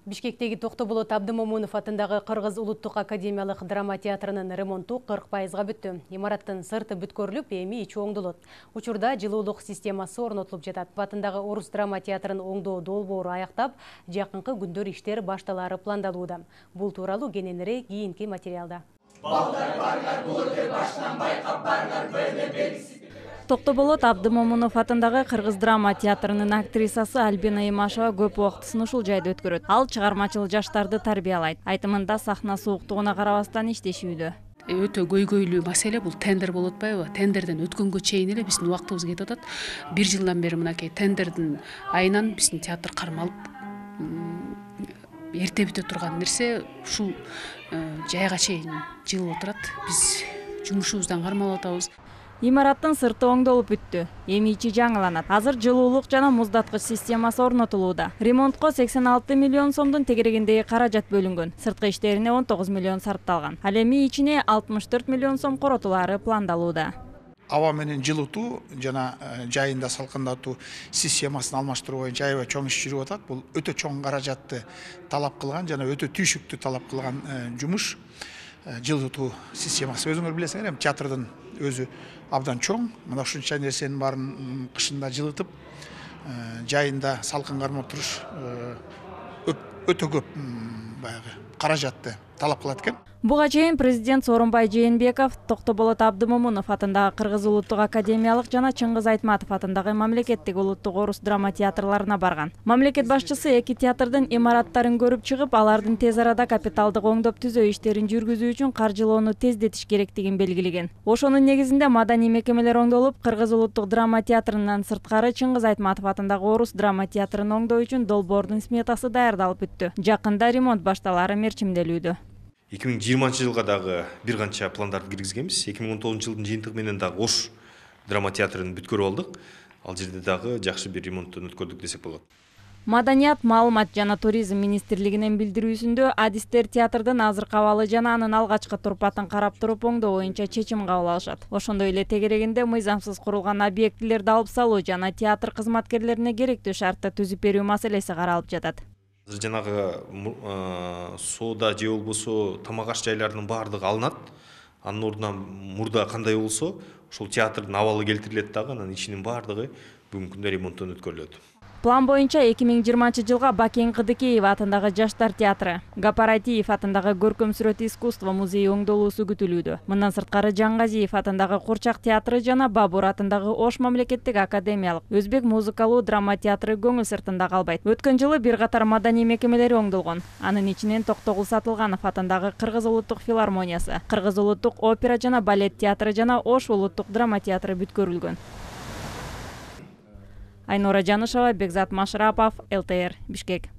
Бишкектеги Токтоболот Абдымомунов атындагы Кыргыз улуттук академиялык драма театрынын ремонту 40%га бүттү. Имараттын сырты бүткөрүлүп, эми ичи оңдолот. Учурда жылуулук системасы орнотулуп жатат. Атындагы Орус драма театрын оңдоо долбоору аяктап, жакынкы күндөр иштер башталары пландалууда. Бул тууралуу кененирээк кийинки материалда. Токтоболот Абдымомунов атындагы Кыргыз драма театрынын актрисасы Альбина Имашева көп убактысын ушул жайда өткөрөт. Ал чыгармачыл жаштарды тарбиялайт. Айтымында сахна сууктугуна карабастан иштешүүдө. Өтө көйгөйлүү маселе бул тендер болуп атпайбы? Тендерден өткөнгө чейин эле биздин убактыбыз кетип атат. 1 жылдан бери мынакей тендердин айынан биздин театр кармалып, эрте бүтө турган нерсе ушул жайга чейин жылып отурат. Биз жумушубуздан кармалып атабыз. Имараттын сырты оңдолуп бүттү. Эми ичи жаңыланат. Азыр жылуулук жана муздаткыч системасы орнотулууда. Ремонтко 86 миллион сомдун тегерегиндеги каражат бөлүнгөн. Сырткы иштерине 19 миллион сарпталган. Ал эми ичине 64 миллион сом коротулаары пландалууда. Аба менен жылытуу жана жайында салкындатуу системасын алмаштыруу боюнча аябай чоң иш жүрүп атат. Бул өтө чоң каражатты талап кылган жана өтө түйшүктүү талап кылган жумуш. Жылытуу системасы өзүңөр билесиңер, эми театрдын өзү абдан чоң. Мына ушунча нерсенин баарын кышында жылытып, жайында салкын кармап туруш өтө көп баягы каражатты талап кылат экен. Буга чейин президент Сооронбай Жээнбеков Токтоболот Абдымомунов атындагы Кыргыз улуттук академиялык жана Чыңгыз Айтматов атындагы мамлекеттик улуттук орус драма театрларына барган. Мамлекет башчысы эки театрдын имараттарын көрүп чыгып, алардын тез арада капиталдык оңдоп түзөө иштерин жүргүзүү үчүн каржылоону тездетиш керектигин белгилеген. Ошонун негизинде маданий мекемелер оңдолуп, Кыргыз улуттук драма театрынан сырткары Чыңгыз Айтматов атындагы орус драма театрын оңдоо үчүн долбоордун сметасы даярдалып бүттү. Жакында ремонт башталаары мерчимделүүдө. 2020 жылга дагы бир канча пландарды киргизгенбиз. 2019 жылдын жыйынтыгы менен дагы Ош драма театрын бүткөрүп алдык. Ал жерде дагы жакшы бир ремонттон өткөрдүк десек болот. Маданият, маалымат жана туризм министрлигинин билдирүүсүндө адистер театрдын азыркы абалы жана анын алгачкы турпатын карап туруп оңдоо боюнча чечим кабыл алышат. Ошондой эле тегерегинде мыйзамсыз курулган объектилерди алып салуу жана театр кызматкерлерине керектүү шартты түзүп берүү маселеси каралып жатат. Жанагы соода же болбосо тамак аш жайлардын баардыгы алынат. Анын ордуна мурда кандай болсо, ошол театрдын абалы келтирилет дагы, анын ичинин баардыгы бүгүнкү күндө ремонттон өткөрүлөт. План боюнча 2020 жылга Бакен Кыдыкеев атындагы Жаштар театры, Гапаратиев атындагы Көркөм сүрөт искусство музейи оңдолуусу күтүлүүдө. Мындан сырткары Жангазиев атындагы Курчак театры жана Бабур атындагы Ош мамлекеттик академиялык өзбек музыкалуу драма театры көңүл сыртында калбайт. Өткөн жылы бир катар маданий мекемелери оңдолгон. Анын ичинен Токтогул Сатылганов атындагы Кыргыз улуттук филармониясы, Кыргыз улуттук опера жана балет театры жана Ош улуттук драма театры бүткөрүлгөн. Айнура Жанышева, Бекзат Машрапов, ЛТР, Бишкек.